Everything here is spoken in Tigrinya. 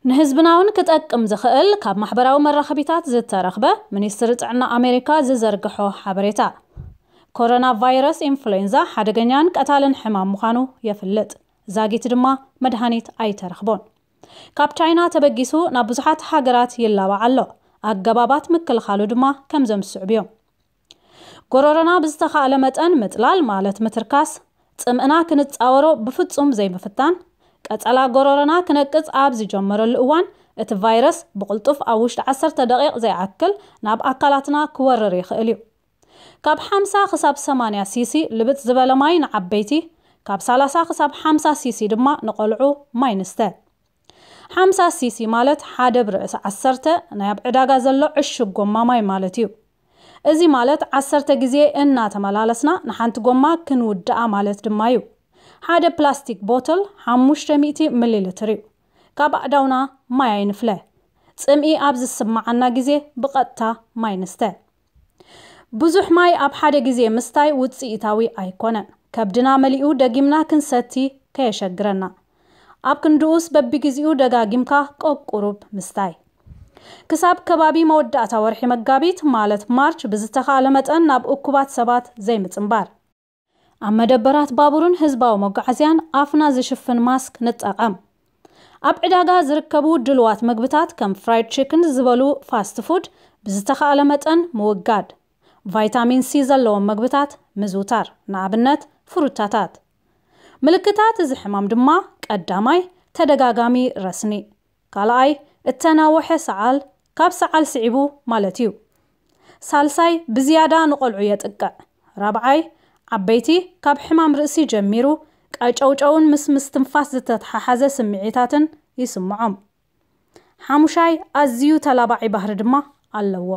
ንህዝብና እውን ክጠቅም ዝኽእል ካብ ማሕበራዊ መራኸቢታት ዝተረኽበ፣ ሚኒስትሪ ጥዕና ኣሜሪካ ዝዘርግሖ ሓበሬታ። ኮሮና ቫይረስ ኢንፍሉዌንዛ ሓደገኛን ቀታልን ሕማም ምዃኑ የፍልጥ። ዛጊት ድማ መድሃኒት ኣይተረኽቦን። ካብ ቻይና ተበጊሱ ናብ ብዙሓት ሃገራት ይላባዕ ኣሎ። ኣገባባት ምክልኻሉ ድማ ከምዞም ዝስዕቡ እዮም። ጎሮሮና ብዝተኻእለ መጠን ምጥላል፣ ማለት ምትርካስ፣ ጽምእና ክንጻወሮ ብፍጹም ዘይምፍታን፣ ቀጸላ ጎሮሮና ክነቅጽ ኣብ ዝጀመረሉ እዋን፣ እቲ ቫይረስ ብቕልጡፍ ኣብ ውሽጢ ዓሰርተ ደቂቕ ዘይኣክል ናብ ኣካላትና ክወርር ይኽእል እዩ። ካብ ሓምሳ ክሳብ ሰማንያ ሲሲ ልብጥ ዝበለ ማይ ንዓበይቲ፣ ካብ ሰላሳ ክሳብ ሓምሳ ሲሲ ድማ ንቆልዑ ማይ ንስተ። ሓምሳ ሲሲ ማለት ሓደ ብርእሲ ዓሰርተ ናይ ኣብ ዕዳጋ ዘሎ ዕሹግ ጎማ ማይ ማለት እዩ። እዚ ማለት ዓሰርተ ግዜ እናተመላለስና ንሓንቲ ጎማ ክንውድኣ ማለት ድማ እዩ። ሓደ ፕላስቲክ ቦትል ሓሙሽተ ሚእቲ ሚሊ ሊትር እዩ። ካብ ኣእዳውና ማይ ኣይንፍለ። ጽምኢ ኣብ ዝስምዓና ግዜ ብቐጥታ ማይ ንስተ። ብዙሕ ማይ ኣብ ሓደ ግዜ ምስታይ ውጽኢታዊ ኣይኮነን። ከብድና መሊኡ ደጊምና ክንሰቲ ከየሸግረና። ኣብ ክንድኡስ በብግዜኡ ደጋጊምካ ቆቁሩብ ምስታይ። ክሳብ ከባቢ መወዳእታ ወርሒ መጋቢት ማለት ማርች ብዝተኻእለ መጠን ናብ እኩባት ሰባት ዘይምጽንባር። ኣብ መደበራት ባቡርን ህዝባዊ መጓዓዝያን ኣፍና ዝሽፍን ማስክ ንጠቐም። ኣብ ዕዳጋ ዝርከቡ ድልዋት ምግብታት ከም ፍራይድ ቺክን ዝበሉ ፋስት ፉድ ብዝተኻእለ መጠን ምውጋድ። ቫይታሚን ሲ ዘለዎም ምግብታት ምዝውታር፣ ንኣብነት ፍሩታታት። ምልክታት እዚ ሕማም ድማ ቀዳማይ ተደጋጋሚ ረስኒ፣ ካልኣይ እተናወሐ ሰዓል፣ ካብ ሰዓል ስዒቡ ማለት እዩ። ሳልሳይ ብዝያዳ ንቆልዑ የጥቅዕ። ራብዓይ ዓበይቲ ካብ ሕማም ርእሲ ጀሚሩ ቀጨውጨውን ምስ ምስትንፋስ ዝተተሓሓዘ ስምዒታትን ይስምዖም። ሓሙሻይ ኣዝዩ ተላባዒ ባህሪ ድማ ኣለዎ።